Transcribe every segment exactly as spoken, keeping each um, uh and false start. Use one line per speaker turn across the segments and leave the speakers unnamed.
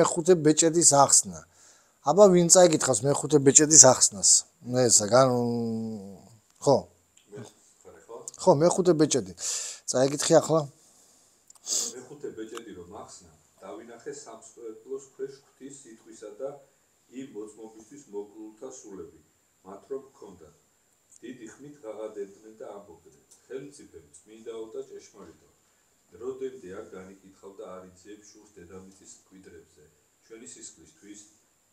მეხუთე ბეჭედის ახსნა. აბა ვინ წაიკითხავს მეხუთე ბეჭედის ახსნას? ესა გან ხო? ხო, მეხუთე ბეჭედი. წაიკითხე ახლა.
მეხუთე ბეჭედი რომ ახსნა, დავინახე სამსხვერპლოს ქვეშ ღვთის სიტყვისა და იმ მოწმობისთვის მოკლულთა სულები, მათ რომ ჰქონდათ. დიდი ხმით ღაღადებდნენ და ამბობდნენ. ხელმწიფე, წმინდაო და ჭეშმარიტო. როდემდე არ განიკითხავდა არ იწიებს შურს დედამიწის მკვიდრებზე, ჩვენი სისხლისთვის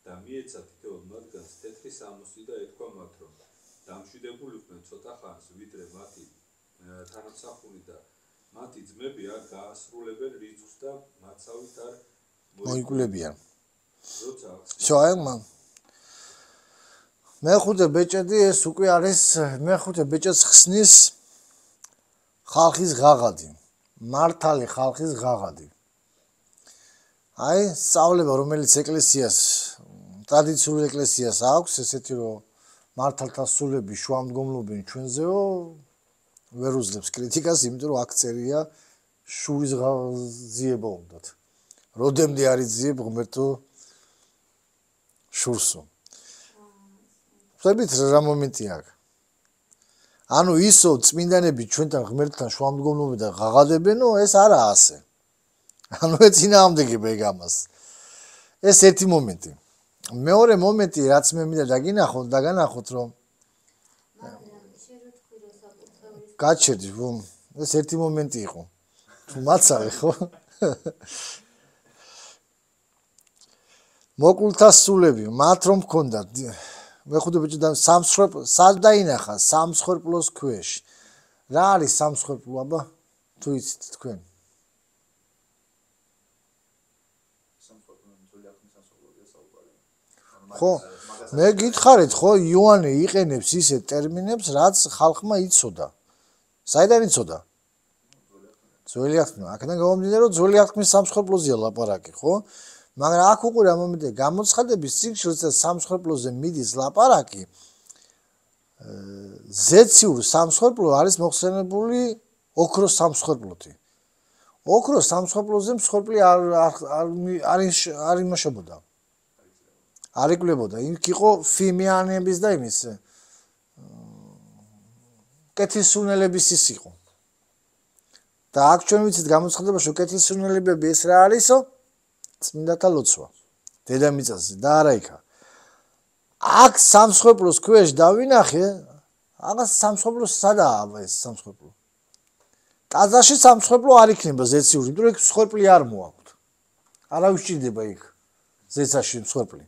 და მიეცა თითოეულ მათგანს თეთრი სამოსი და ეთქვა მათ რომ დამშვიდებულიყვნენ ცოტა ხანს, ვიდრე მათი თანამსახური და მათი ძმები არ გაასრულებენ რიცხვს და მაცავით არ
მოიკულებიან. შოაემ მეხუთე ბეჭედი ეს უკვე არის მეხუთე ბეჭედს ხსნის ხალხის ღაღადი. მართალი ხალხის ღაღადი. აი, სწავლება რომელიც ეკლესიას, ტრადიციული ეკლესიას აქვს, ესეთი რომ მართალთა სულები შუამდგომლობენ ჩვენზეო, ვერ უძლებს კრიტიკას, იმიტომ რომ აქ წერია შურის ღაზიება უნდათ. როდემდე არ იძიებ ღმერთო შურსო. ხვდებით რა მომენტი აქ? ანუ ისო წმინდანები ჩვენთან ღმერთთან შუამდგომლობიდან ღაღადებენო, ეს არაა ასე. ანუ ეწინააღმდეგება ეგ ამას. ეს ერთი მომენტი. მეორე მომენტი, რაც მე მინდა დაგინახოთ, დაგანახოთ, რომ გაჩერდი, რომ ეს ერთი მომენტი იყო. თუ მაცავე, ხო? მოკლულთა სულები, მათ რომ ჰქონდათ მეხუთე ბეჭედი სამსხვერპლო, სად დაინახა სამსხვერპლოს ქვეშ. რა არის სამსხვერპლო, აბა? თუ იცით თქვენ? ხო, მე გითხარით, ხო, იოანე იყენებს ისეთ ტერმინებს, რაც ხალხმა იცოდა. საიდან იცოდა? ძველი აღთქმა. აქედან გამომდინარე, რომ ძველი აღთქმის სამსხვერპლოზეა ლაპარაკი, ხო? მაგრამ აქ უკვე რა მომენტია, გამოცხადების წიგნში როცა სამსხვერპლოზე მიდის ლაპარაკი, ზეციურ სამსხვერპლო არის მოხსენებული ოქროს სამსხვერპლოთი. ოქროს სამსხვერპლოზე მსხვერპლი არ არ არ იმაშებოდა. არ იკლებოდა. იქ იყო ფიმიანების და იმის კეთილსურნელების ის იყო. და აქ ჩვენ ვიცით გამოცხადებაში, რომ კეთილსურნელებები ეს რა არისო? წმინდათა ლოცვა. დედამიწაზე და არა იქა. აქ სამსხვერპლოს ქვეშ დავინახე, აღა სამსხვერპლოს სადაა ეს სამსხვერპლო? ტაძარში სამსხვერპლო არ იქნება ზეციური, იმიტომ რომ იქ მსხვერპლი არ მოაქვთ. არა უსჭირდება იქ ზეცაში მსხვერპლი.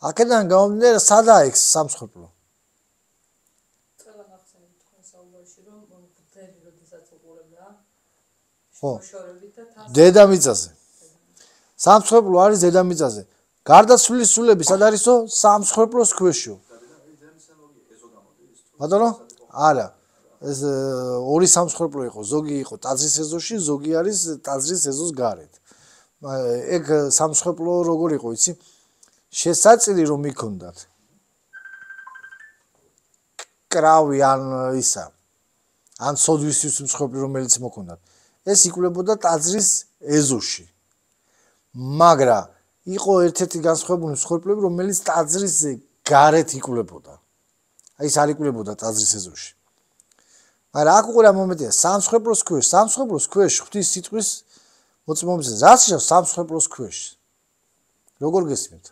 აქედან გამომდინარე, სადაა იქ სამსხვერპლო?
ყველა გახსენეთ თქვენ საუბარში, რომ მთელი როდესაც უყურებდა,
ხო.
მოშორებით და თან
დედამიწაზე. სამსხვერპლო არის დედამიწაზე. გარდაცვლილის სულები სად არისო? სამსხვერპლოს ქვეშო. ბატონო? არა. ეს ორი სამსხვერპლო იყო, ზოგი იყო ტაძრის ეზოში, ზოგი არის ტაძრის ეზოს გარეთ. ეგ სამსხვერპლო როგორ იყო, იცი? შესაწირი რომ იქონდათ. კრავი ან ისა. ან სოდვისთვის მსხვერპლი რომელიც მოქონდათ. ეს იკლებოდა ტაძრის ეზოში. მაგრამ იყო ერთ-ერთი განსხვავებული მსხვერპლები, რომელიც ტაძრის გარეთ იკლებოდა. აი ეს არ იკლებოდა ტაძრის ეზოში. მაგრამ აქ უკვე რა მომენტია, სამსხვერპლოს ქვეშ, სამსხვერპლოს ქვეშ ღვთის სიტყვის მოწმობისას, რაც შეავს სამსხვერპლოს ქვეშ. როგორ გესმით?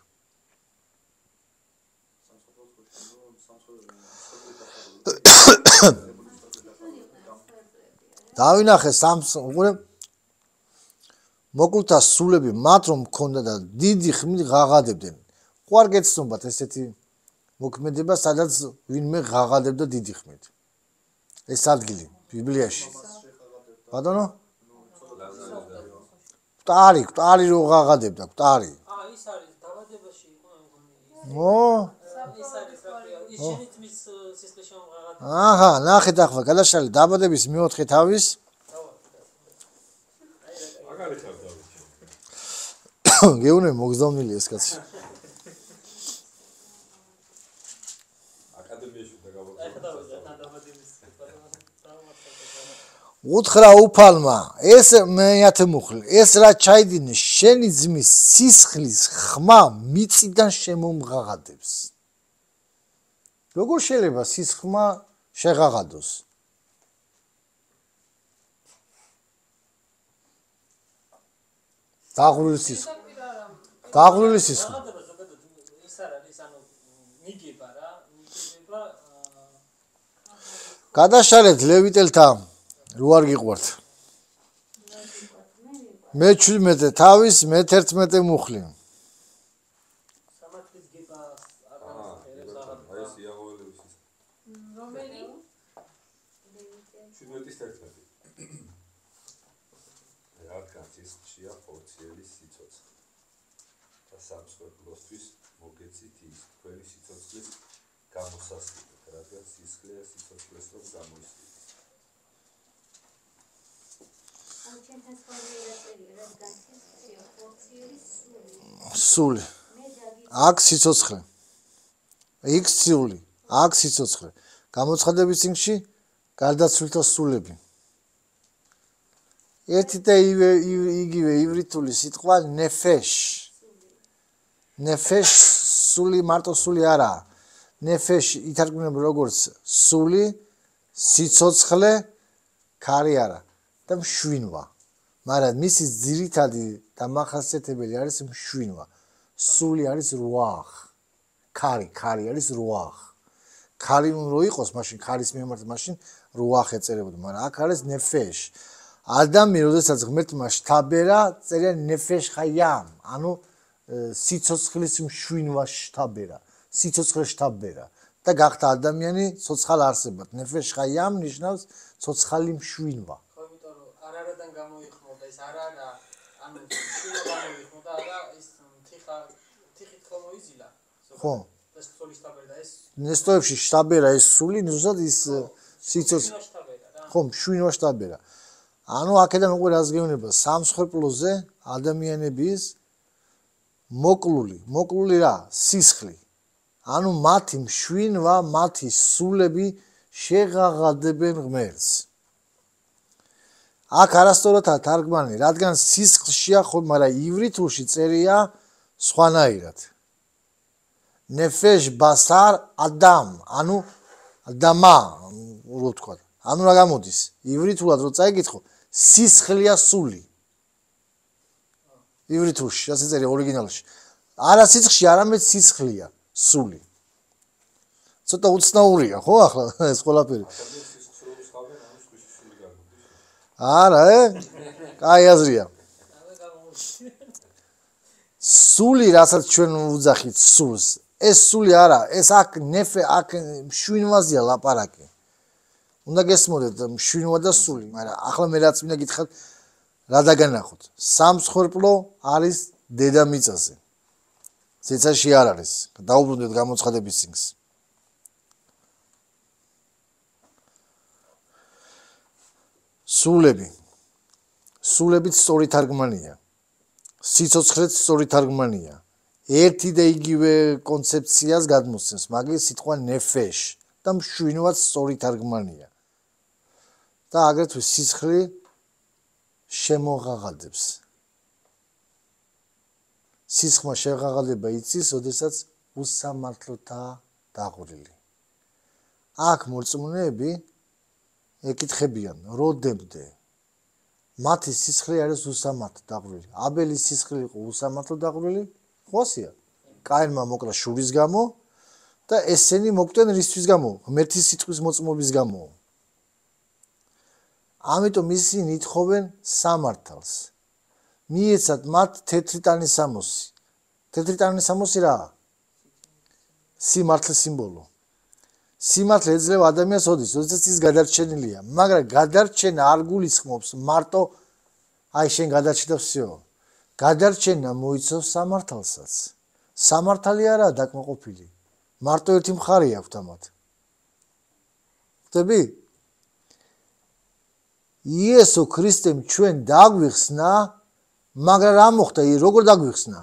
დავინახე სამს უყურე მოკლულთა სულები მათ რომ მქონდა და დიდი ხმით ღაღადებდნენ. ხო არ გეცნობათ ესეთი მოქმედება, სადაც ვინმე ღაღადებდა დიდი ხმით. ეს ადგილი ბიბლიაში. ბატონო? კვტარი, კვტარი რო ღაღადებდა, კვტარი.
აა ის არის დაბადებაში იყო მგონი.
ო?
ის არის რა ქვია, ის შენითმის სისხლში მომღაღადა.
აჰა, ნახეთ ახლა გადაშალე დაბადების მეოთხე თავის.
მაგარი ხარ დავით.
გეუნე მოგზავნილი ეს კაცი.
აკადემიაში და გავაკეთე.
უთხრა უფალმა ეს მეათე მუხლი ეს რა ჩაიდინე შენი ძმის სისხლის ხმა მიწიდან შემომღაღადებს როგორ შეიძლება სისხლმა შეღაღადოს დაღვრილი სისხლი დაღვრილი სისხლი
ის არ არის ანუ მიგება რა მიგება
გადაშალეთ ლევიტელთა რო არ გიყვართ მე შვიდმეტე თავის მე თერთმეტე მუხლი
სამართლის გება
აი ეს იაღოველების ის
რომელი
შვიდმეტის თერთმეტი რადგან სისხლშია ხორციელი სიცოცხლე და სამსხვერპლოსთვის მოგეცით ის თქვენი სიცოცხლის გამოსასყიდად რადგან სისხლია სიცოცხლეს რომ გამოისყიდეთ
სული აქ სიცოცხლე იქ სული აქ სიცოცხლე გამოცხადების წინში გარდაცვლილთა სულები ერთი და იგივე ივრითული სიტყვა ნეფეშ ნეფეშ სული მარტო სული არა ნეფეშ ითარგმნება როგორც სული სიცოცხლე ქარი არა და მშვინვა მაგრამ მისი ძირითადი დამახასიათებელი არის მშვინვა სული არის რუახ ქარი ქარი არის რუახ ქარი რო იყოს მაშინ ქარის მიმართ მაშინ რუახ ეწერებოდა მაგრამ აქ არის ნეფეშ ადამი როდესაც ღმერთმა შთაბერა წერია ნეფეშ ხაიამ ანუ სიცოცხლის მშვინვა შთაბერა სიცოცხლე შთაბერა და გახდა ადამიანი ცოცხალ არსებად ნეფეშ ხაიამ ნიშნავს ცოცხალი მშვინვა
არარადან გამოიხმოდა ეს არარა ანუ შვილო გამოიხმოდა და ის თიხა თიხით ხომოიზილა
ხო
ეს სული შტაბერა ეს
ნესტოებში შტაბერა ეს სული ზუსტად ის სიცოცხლე ხო მშვინვა შტაბერა ანუ აქედან უკვე რას გეუბნება სამსხვერპლოზე ადამიანების მოკლული მოკლული რა სისხლი ანუ მათი მშვინვა მათი სულები შეღაღადებენ ღმერთს აქ არასწორადაა თარგმანი, რადგან სისხლშია ხო, მაგრამ ივრითულში წერია სხვანაირად. ნეფეშ ბასარ ადამ, ანუ ადამა, რო ვთქვა. ანუ რა გამოდის? ივრითულად რო წაიგითხო, სისხლია სული. ივრითულში, ასე წერია ორიგინალში. არა სისხლში, არამედ სისხლია სული. ცოტა უცნაურია, ხო ახლა ეს ყველაფერი. არა, ე? კაი აზრია. სული, რასაც ჩვენ ვუძახით სულს, ეს სული არა, ეს აქ ნეფე, აქ მშვინვაზეა ლაპარაკი. უნდა გესმოდეთ მშვინვა და სული, მაგრამ ახლა მე რაც მინდა გითხრათ, რა დაგანახოთ. სამსხვერპლო არის დედამიწაზე. ცეცაში არ არის. დაუბრუნდეთ გამოცხადების წიგნს. სულები. სულებით სწორი თარგმანია. სიცოცხლეც სწორი თარგმანია. ერთი და იგივე კონცეფციას გადმოსცემს, მაგის სიტყვა ნეფეშ და მშვინვაც სწორი თარგმანია. და აგრეთვე სისხლი შემოღაღადებს. სისხლმა შეღაღადება იცის, ოდესაც უსამართლოთაა დაღვრილი. აქ მორწმუნეები ეკითხებიან, როდემდე მათი სისხლი არის უსამართლო დაღვრილი. აბელის სისხლი იყო უსამართლო დაღვრილი, ხოსია. კაინმა მოკლა შურის გამო და ესენი მოკვდნენ რისთვის გამო? ღმერთის სიტყვის მოწმობის გამო. ამიტომ ისინი ითხოვენ სამართალს. მიეცათ მათ თეთრი ტანის სამოსი. თეთრი ტანის სამოსი რა? სიმართლის სიმბოლო. სიმართლე ეძლევა ადამიანს ოდის, როდესაც ის გადარჩენილია, მაგრამ გადარჩენა არ გულისხმობს მარტო აი შენ გადარჩენდა всё. გადარჩენა მოიცავს სამართალსაც. სამართალი არაა დაკმაყოფილი. მარტო ერთი მხარე აქვს ამათ. ხტები? იესო ქრისტემ ჩვენ დაგვიხსნა, მაგრამ რა მოხდა? როგორ დაგვიხსნა?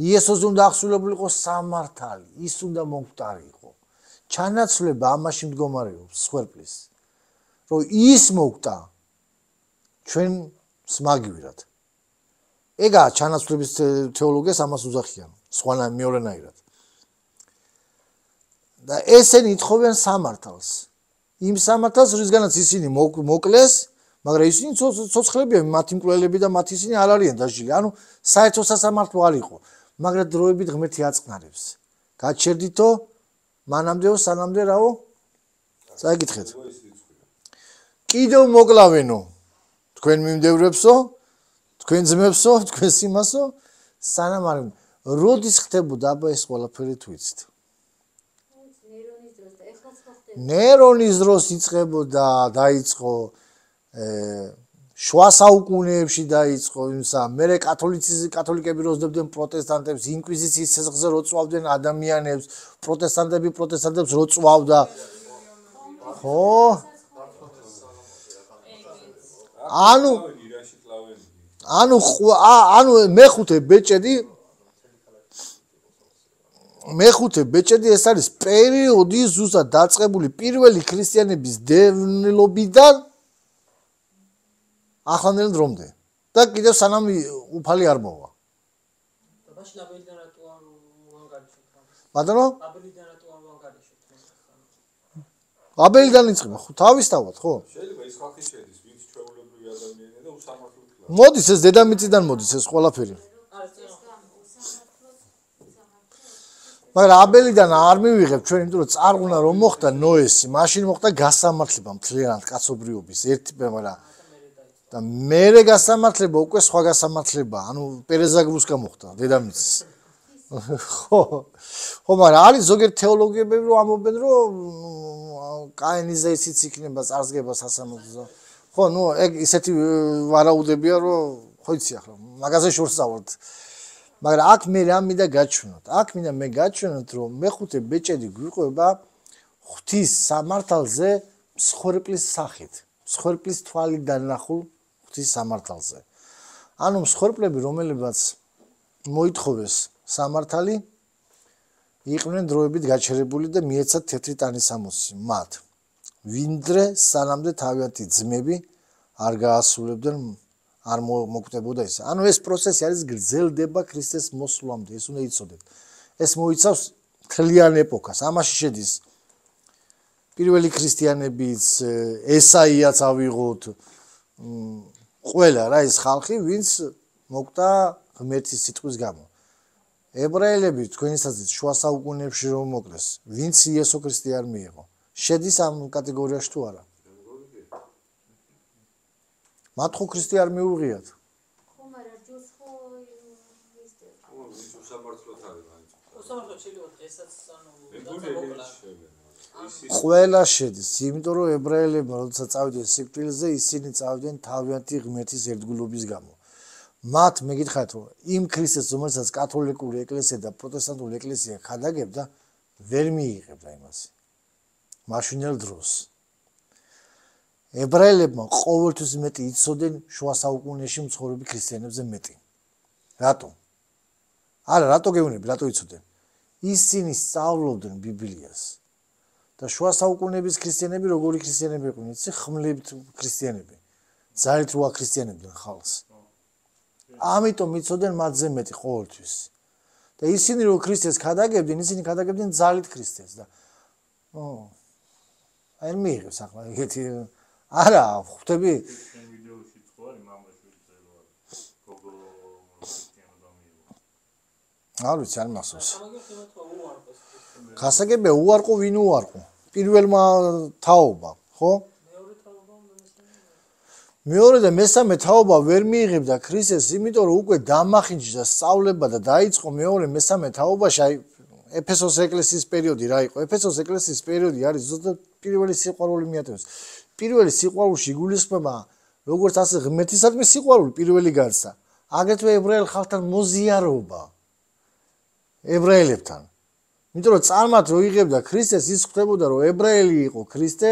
იესოს უნდა აღსრულებულიყო სამართალი, ის უნდა მომკვდარიყო. ჩანაცვლება ამაში მდგომარეობს სხვერპლის. რომ ის მოკვდა, ჩვენს მაგივრად. ეგაა ჩანაცვლების თეოლოგიას ამას უძახიან, სხვანა მეორენაირად. და ესენი ითხოვენ სამართალს. იმ სამართალს, რისგანაც ისინი მოკლეს, მაგრამ ისინი ცოცხლებია, მათი მკვლელები და მათ ისინი არ არიან დაჟილი. ანუ საერთო სასამართლო არ იყო, მაგრამ დროებით ღმერთი აწყნარებს. გაჩერდითო მანამდეო სანამდე რაო? წაიკითხეთ. კიდევ მოკლავენო თქვენ მიმდევრებსო, თქვენ ძმებსო, თქვენ სიმასო, სანამ არ როდის ხდებოდა აბა ეს ყველაფერი თუ იცით? ნერონის დროს იწყებოდა, დაიწყო შუა საუკუნეებში დაიწყო იმსა, მერე კათოლიციზმი კათოლიკები როზდებდნენ პროტესტანტებს, ინკვიზიციის სისხლზე როწვავდნენ ადამიანებს, პროტესტანტები პროტესტანტებს როწვავდა. ხო? ანუ ანუ ანუ მეხუთე ბეჭედი მეხუთე ბეჭედი ეს არის პერიოდი ზუსტად დაწყებული პირველი ქრისტიანების დევნილობიდან ახლანდელ დრომდე და კიდევ სანამ უფალი არ მოვა.
ბაში აბელიდან რატო არ უანგარიშოთ?
ბატონო?
აბელიდან რატო არ უანგარიშოთ?
აბელიდან იწყება, ხო, თავისთავად, ხო?
შეიძლება ის ხალხი შედის, ვინც ჩვეულებრივი ადამიანია და უსამართლო ქლა.
მოდის ეს დედამიწიდან მოდის ეს ყველაფერი. მაგრამ აბელიდან არ მივიღებ ჩვენ, იმიტომ რომ წარღვნა რომ მოხდა ნოესი, მაშინ მოხდა გასამართლება მთლიანად კაცობრიობის ერთი მაგრამ და მერე გასამართლება უკვე სხვა გასამართლება, ანუ პერეზაგრუსკა მოხდა დედამიწის. ხო. ხო, მაგრამ არის ზოგიერთ თეოლოგიები რომ ამობენ რომ კაინიზე ისიც იქნება წარსგება სასამართლო. ხო, ნუ ეგ ისეთი ვარაუდებია რომ ხო იცი ახლა მაგაზე შორს წავართ. მაგრამ აქ მე რა მინდა გაჩვენოთ? აქ მინდა მე გაჩვენოთ რომ მეხუთე ბეჭედი გვიყვება ღვთის სამართალზე მსხვერპლის სახით. მსხვერპლის თვალიდან ნახულ ღვთის სამართალზე. ანუ მსხვერპლები რომელებაც მოითხოვეს სამართალი იყვნენ დროებით გაჩერებული და მიეცათ თეთრი ტანისამოსი მათ. ვინდრე სანამდე თავიანთი ძმები არ გაასრულებდნენ არ მოკვდებოდა ეს. ანუ ეს პროცესი არის გრძელდება ქრისტეს მოსვლამდე, ეს უნდა იცოდეთ. ეს მოიცავს მთლიან ეპოქას. ამაში შედის პირველი ქრისტიანებიც, ესაიაც ავიღოთ, ყველა რა ის ხალხი, ვინც მოკვდა ღმერთის სიტყვის გამო. ებრაელები თქვენისაცაც შუა საუკუნეებში რომ მოკლეს, ვინც იესო ქრისტე არ მიიღო. შედის ამ კატეგორიაში თუ არა? მათ ხო ქრისტე არ მიუღიათ.
ხო, მაგრამ ჯოს ხო ისე.
ხო, ის უსამართლოდ არის მაინც.
უსამართლოდ შეიძლება დღესაც ანუ
ყველა შედის, იმიტომ რომ ებრაელებმა როდესაც წავიდნენ სიკვდილზე, ისინი წავიდნენ თავიანთი ღმერთის ერთგულობის გამო. მათ მეკითხათ რომ იმ ქრისტეს რომელსაც კათოლიკური ეკლესია და პროტესტანტული ეკლესია ხადაგებდა, ვერ მიიღებდა იმას. მაშინელ დროს ებრაელებმა ყოველთვის მეტი იცოდნენ შუა საუკუნეში მცხოვრები ქრისტიანებზე მეტი. რატო? არა, რატო გეუბნები, რატო იცოდნენ? ისინი სწავლობდნენ ბიბლიას. და შუა საუკუნეების ქრისტიანები როგორი ქრისტიანები იყვნენ? იცი, ხმლებით ქრისტიანები. ძალით როა ქრისტიანებდნენ ხალხს. ამიტომ იცოდნენ მათზე მეტი ყოველთვის. და ისინი რო ქრისტეს ხადაგებდნენ, ისინი ხადაგებდნენ ძალით ქრისტეს და ო აი მიიღებს ახლა ეგეთი არა, ხვდები?
შენ ვიდეოში ხო არის მამაში ვიწერო გოგო ქრისტიანობა მიიღო.
არ ვიცი, არ მახსოვს. ხასაგებია უარყო ვინ უარყო? პირველმა თაობა, ხო? მეორე და მესამე თაობა ვერ მიიღებდა ქრისტეს, იმიტომ რომ უკვე დამახინჯდა სწავლება და დაიწყო მეორე მესამე თაობაში, აი ეფესოს ეკლესიის პერიოდი რა იყო? ეფესოს ეკლესიის პერიოდი არის ზუსტად პირველი სიყვარული მიატევს. პირველი სიყვარულში გულისხმება როგორც ასე ღმერთისადმი სიყვარული პირველი განცდა. აგრეთვე ებრაელ ხალხთან მოზიარობა. ებრაელებთან. იმიტომ რომ წარმათ რო იღებდა ქრისტეს, ის ხდებოდა რომ ებრაელი იყო ქრისტე,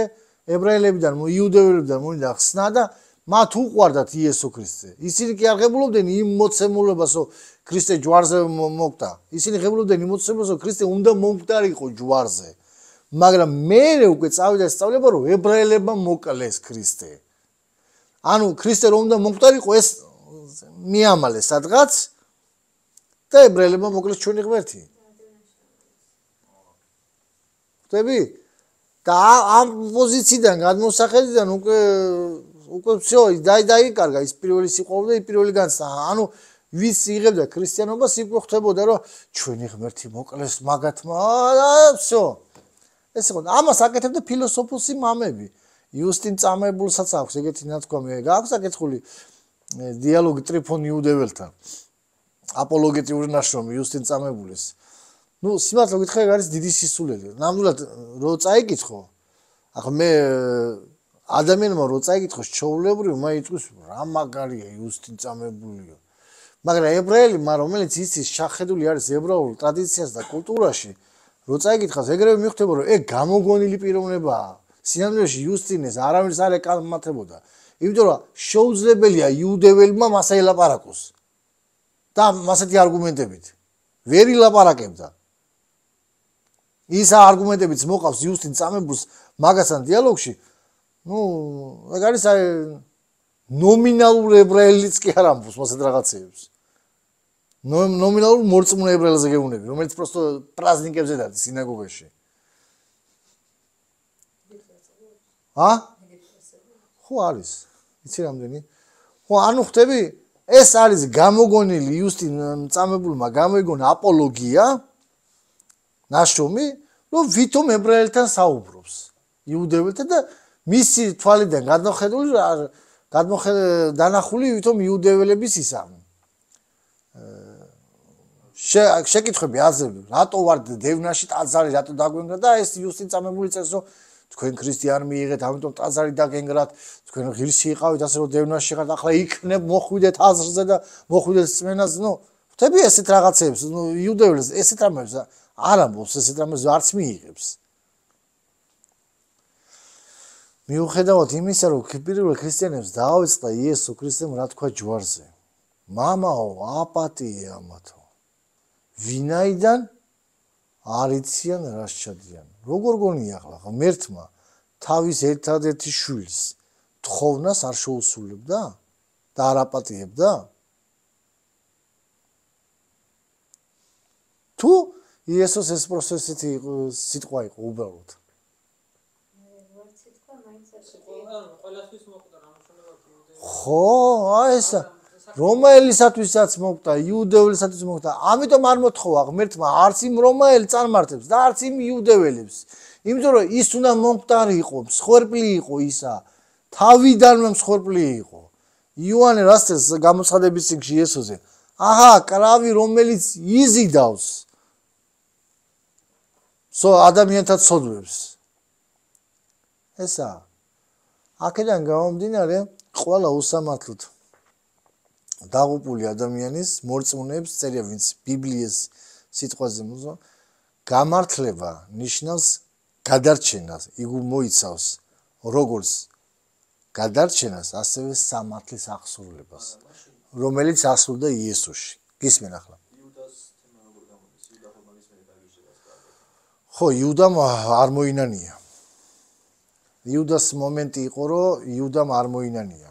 ებრაელებიდან, იუდეველებიდან მოვიდა ხსნა და მათ უყვარდათ იესო ქრისტე. ისინი კი არ ღებულობდნენ იმ მოცემულობას, რომ ქრისტე ჯვარზე მოკვდა. ისინი ღებულობდნენ იმ მოცემულობას, რომ ქრისტე უნდა მომკვდარიყო ჯვარზე. მაგრამ მერე უკვე წავიდა სწავლება, რომ ებრაელებმა მოკლეს ქრისტე. ანუ ქრისტე რომ უნდა მომკვდარიყო ეს მიამალე სადღაც და ებრაელებმა მოკლეს ჩვენი ღმერთი. ხვდები? და ამ პოზიციიდან გადმოსახედიდან უკვე უკვე всё დაი დაიკარგა ის პირველი სიყვარული და ის პირველი განცდა. ანუ ვის იღებდა ქრისტიანობას იქ ხვდებოდა რომ ჩვენი ღმერთი მოკლეს მაგათმა და всё. ეს იყო ამას აკეთებდა ფილოსოფოსი მამები. იუსტინ წამებულსაც აქვს ეგეთი ნათქვამი. გააქვს აკეთხული დიალოგი ტრიფონ იუდეველთან. აპოლოგეტიური ნაშრომი იუსტინ წამებულის. ნუ სიმართლე გითხრა ეგ არის დიდი სისულელი. ნამდვილად რო წაიკითხო. ახლა მე ადამიანმა რო წაიკითხოს ჩაულებრივ, მე იტყვის რა მაგარია იუსტინ წამებულიო. მაგრამ ებრაელი, რომელიც იცის შახედული არის ებრაულ ტრადიციას და კულტურაში, რო წაიკითხავს, ეგრევე მიხვდება რომ ეგ გამოგონილი პიროვნებაა. სინამდვილეში იუსტინეს არავის არ ეკამათებოდა. იმიტომ რომ შეუძლებელია იუდეველმა მასა ელაპარაკოს. და მასეთი არგუმენტებით. ვერ ილაპარაკებდა. ისა არგუმენტებიც მოყავს იუსტინ წამებულს მაგასთან დიალოგში. ნუ ეგ არის აი ნომინალურ ებრაელიც კი არ ამბობს მასეთ რაღაცეებს. ნომინალურ მორწმუნე ებრაელზე გეუბნები, რომელიც პროსტო პრაზნიკებზე დადის სინაგოგაში. ა? ხო არის. იცი რამდენი? ხო, ანუ ხვდები, ეს არის გამოგონილი იუსტინ წამებულმა გამოიგონა აპოლოგია ნაშრომი, რომ ვითომ ებრაელთან საუბრობს. იუდეველთან და მისი თვალიდან გადმოხედული გადმოხედ დანახული ვითომ იუდეველების ისა. შეკითხვები აზრები, რატო ვარ დევნაში ტაძარი, რატო დაგვენგრა და ეს იუსტინ წამებული წერს, რომ თქვენ ქრისტიანი მიიღეთ, ამიტომ ტაძარი დაგენგრათ, თქვენ ღირსი იყავით, ასე რომ დევნაში ხართ, ახლა იქნებ მოხვიდეთ აზრზე და მოხვიდეთ წმენაზე, ნუ ხვდები ესეთ რაღაცებს, ნუ იუდეველს ესეთ რამებს არ ამბობს, ესეთ რამებს არც მიიღებს. მიუხედავად იმისა, რომ პირველ ქრისტიანებს დაავიწყდა იესო ქრისტემ რა თქვა ჯვარზე. მამაო, აპატიე ამათო. ვინაიდან არ იციან რა შეჭადიან. როგორ გონია ახლა ღმერთმა თავის ერთადერთი შვილს თხოვნას არ შეუსრულებდა და არ აპატიებდა? თუ იესოს ეს პროცესეთი სიტყვა იყო უბრალოდ. ხო, აი ესა რომაელისათვისაც მოკვდა, იუდეველისათვისაც მოკვდა. ამიტომ არ მოთხოვა ღმერთმა არც იმ რომაელ წარმართებს და არც იმ იუდეველებს. იმიტომ რომ ის უნდა მომკვდარი იყო, მსხვერპლი იყო ისა. თავიდანვე მსხვერპლი იყო. იოანე რას წერს გამოცხადების წიგნში იესოზე? აჰა, კრავი რომელიც იზიდავს. სო ადამიანთა ცოდვებს. ესა. აქედან გამომდინარე, ყველა უსამართლოდ დაღუპული ადამიანის მორწმუნეებს წერია, ვინც ბიბლიას სიტყვაზე მოზო, გამართლება ნიშნავს გადარჩენას, იგი მოიცავს როგორც გადარჩენას, ასევე სამართლის აღსრულებას, რომელიც აღსრულდა იესოში. გისმენ ახლა? ხო, იუდამ არ მოინანია. იუდას მომენტი იყო, რომ იუდამ არ მოინანია.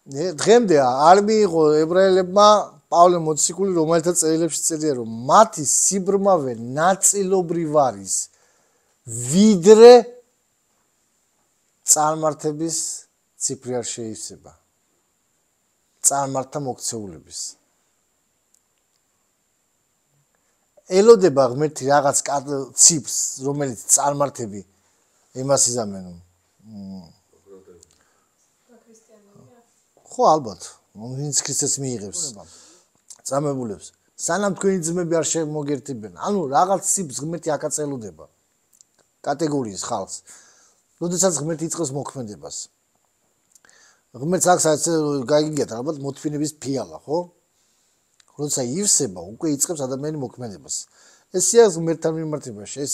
დღემდე არ მიიღო ებრაელებმა პავლე მოციქული, რომელთაც წერილებში წერია, რომ მათი სიბრმავე ნაწილობრივ არის ვიდრე წარმართების ციფრი არ შეივსება. წარმართთა მოქცეულების. ელოდება ღმერთი რაღაც ციფრს, რომელიც წარმართები იმას იზამენ. ხო, ალბათ, ვინც ქრისტეს მიიღებს წამებულებს. სანამ თქვენი ძმები არ შემოგერთებიან, ანუ რაღაც ციფრს ღმერთი აკაწელოდება კატეგორიის ხალხს. როდესაც ღმერთი იწყებს მოქმედებას. ღმერთს აქვს გაიგიათ ალბათ მოთმინების ფიალა, ხო? როცა ივსება, უკვე იწყებს ადამიანი მოქმედებას. ესეა ღმერთთან მიმართებაში, ეს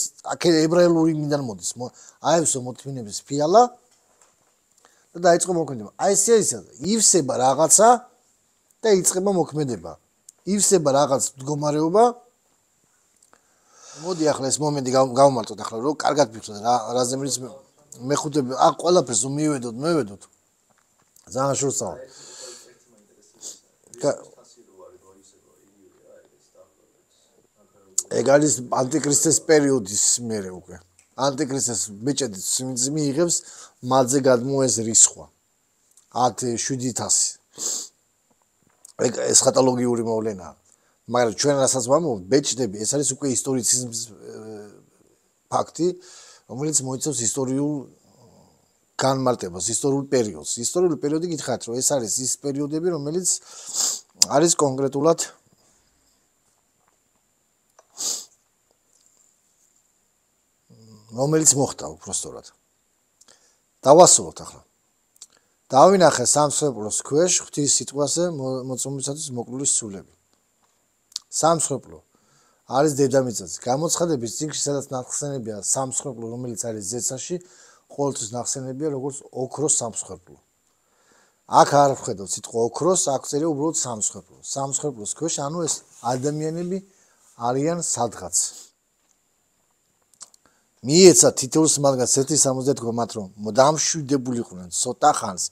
ებრაელური მიდან მოდის. აევსო მოთმინების ფიალა და დაიწყო მოქმედება. აი ესეა ისა, ივსება რაღაცა და იწყება მოქმედება. ივსება რაღაც მდგომარეობა მოდი ახლა ეს მომენტი გავმართოთ ახლა რომ კარგად ვიხსნათ რა რაზე მილის მეხუთე აქ ყველაფერს მივედოთ მევედოთ ძალიან შორსაა ეგ არის ანტიქრისტეს პერიოდის მერე უკვე ანტიქრისტეს ბეჭედი მიიღებს მალზე გადმოეს რისხვა ათი შვიდი ათასი ეგ ეს ხატოლოგიური მოვლენაა მაგრამ ჩვენ რასაც ვამბობთ ბეჭდები ეს არის უკვე ისტორიციზმის ფაქტი რომელიც მოიცავს ისტორიულ განმარტებას ისტორიულ პერიოდს ისტორიული პერიოდი გითხარით რომ ეს არის ის პერიოდები რომელიც არის კონკრეტულად რომელიც მოხდა უბრალოდ დავასრულოთ ახლა დავინახე სამსხვერპლოს ქვეშ ღვთის სიტყვაზე მოწმობისათვის მოკლულის სულები სამსხვერპლო არის დედამიწაზე გამოცხადების წიგნში სადაც ნახსენებია სამსხვერპლო რომელიც არის ზეცაში ყოველთვის ნახსენებია როგორც ოქროს სამსხვერპლო აქ არ ვხედავ სიტყვა ოქროს აქ წერია უბრალოდ სამსხვერპლო სამსხვერპლოს ქვეშ ანუ ეს ადამიანები არიან სადღაც მიეცა თითოეულს მათგანს ერთი სამოცდაათი მათ რომ დამშვიდებულიყვნენ ცოტა ხანს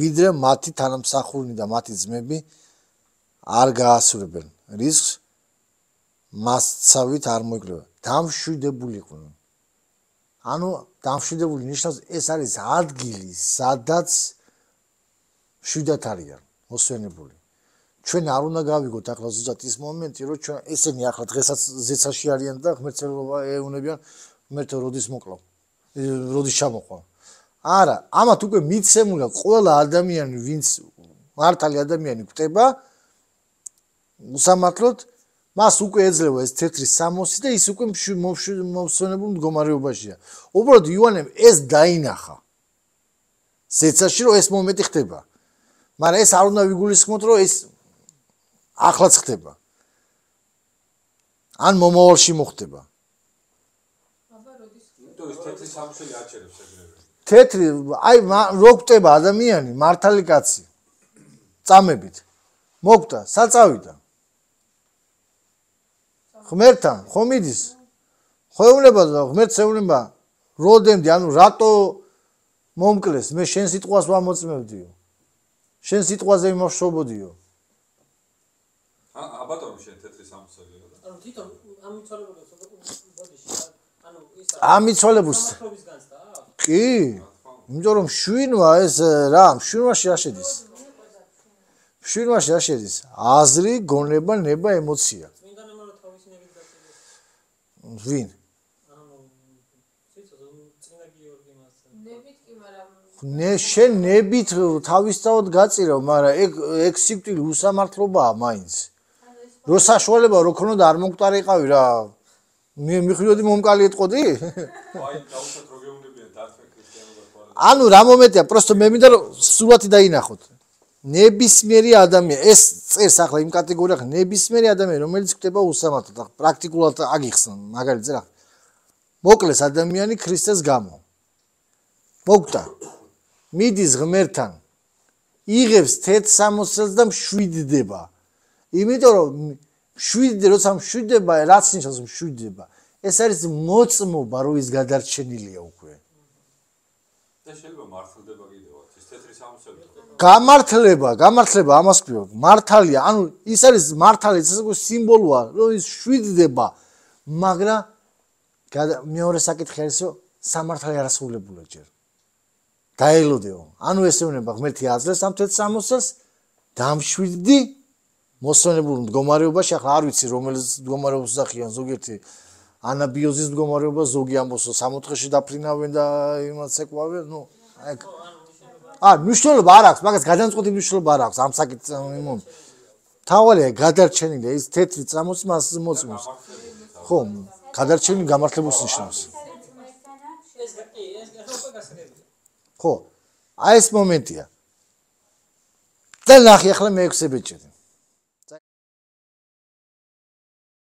ვიდრე მათი თანამსახურნი და მათი ძმები არ გაასურებენ რისკს მასცავით არ მოიკრება დამშვიდებულიყვნენ ანუ დამშვიდებული ნიშნავს ეს არის ადგილი სადაც შვიდად არიან მოსვენებული ჩვენ არ უნდა გავიგოთ ახლა ზუსტად ის მომენტი რომ ჩვენ ესენი ახლა დღესაც ზეცაში არიან და ღმერთელობა ეუნებიან მერტო როდის მოკლავ როდის ჩამოყვა არა ამათ უკვე მიცემულა ყველა ადამიანი ვინც მართალი ადამიანი გვტება უსამართლოდ მას უკვე ეძლევა ეს თეთრი სამოსი და ის უკვე მოსვენებულ მდგომარეობაშია უბრალოდ იოანემ ეს დაინახა ზეცაში რომ ეს მომენტი ხდება მაგრამ ეს არ უნდა ვიგულისხმოთ რომ ეს ახლაც ხდება ან მომავალში მოხდება თეთრი აი რო გვტება ადამიანი მართალი კაცი წამებით მოგტა საწავიდა ღმერთთან ხომ მიდის ხო ეუბნება და ღმერთს ეუბნება როდემდე ანუ რატო მომკლეს მე შენ სიტყვას ვამოწმებდიო შენ სიტყვაზე ვიმოშობოდიო
ა ბატონო შენ თეთრი სამოსელია და
ანუ თვითონ ამიცოლებულს ბოდიში ანუ ის
ამიცოლებულს კი იმიტომ რომ შვინვა ეს რა შვინვაში არ შედის შვინვაში არ შედის აზრი გონება ნება ემოცია ვინ ნე შენ ნებით თავისთავად გაწირავ მაგრამ ეგ ეგ სიკვდილი უსამართლობაა მაინც რო საშუალება რო ქონოდა არ მომკვდარიყავი რა მე მიხვდოდი მომკალი ეთყოდი
აი დაუშვათ რო გეუნებიან დარჩენ ქრისტიანობა
ანუ რა მომენტია პროსტო მე მინდა რომ სულათი დაინახოთ ნებისმიერი ადამიანი ეს წერს ახლა იმ კატეგორიას ნებისმიერი ადამიანი რომელიც ხდება უსამართლოდ პრაქტიკულად აგიხსნა მაგალითზე რა მოკლეს ადამიანი ქრისტეს გამო მოგტა მიდის ღმერთთან იღებს თეთრ სამოსელს და მშვიდდება იმიტომ რომ მშვიდდება როცა მშვიდდება რაც ნიშნავს მშვიდდება ეს არის მოწმობა რომ ის გადარჩენილია უკვე
და შეიძლება მართლდება კიდევაც ის თეთრი სამოსელი
გამართლება გამართლება ამას ქვია მართალია ანუ ის არის მართალი ეს სიმბოლოა რომ ის მშვიდდება მაგრამ მეორე საკითხი არის რომ სამართალი არასრულებულა ჯერ დაელოდეო ანუ ესე უნება ღმერთი აძლევს ამ თეთრ სამოსელს დამშვიდდი მოსვენებულ მდგომარეობაში ახლა არ ვიცი რომელ მდგომარეობას უძახიან ზოგიერთი ანაბიოზის მდგომარეობა ზოგი ამბობს სამოთხეში დაფრინავენ და იმას ეკავენ ნუ ეგ ა მნიშვნელობა არ აქვს მაგას გადამწყვეტი მნიშვნელობა არ აქვს ამ საკითხს იმონ თავალია გადარჩენილია ის თეთრი წამოსი მას მოწმობს ხო გადარჩენილი გამართლებულს ნიშნავს ხო აი ეს მომენტია და ნახე ახლა მეექვსე ბეჭედი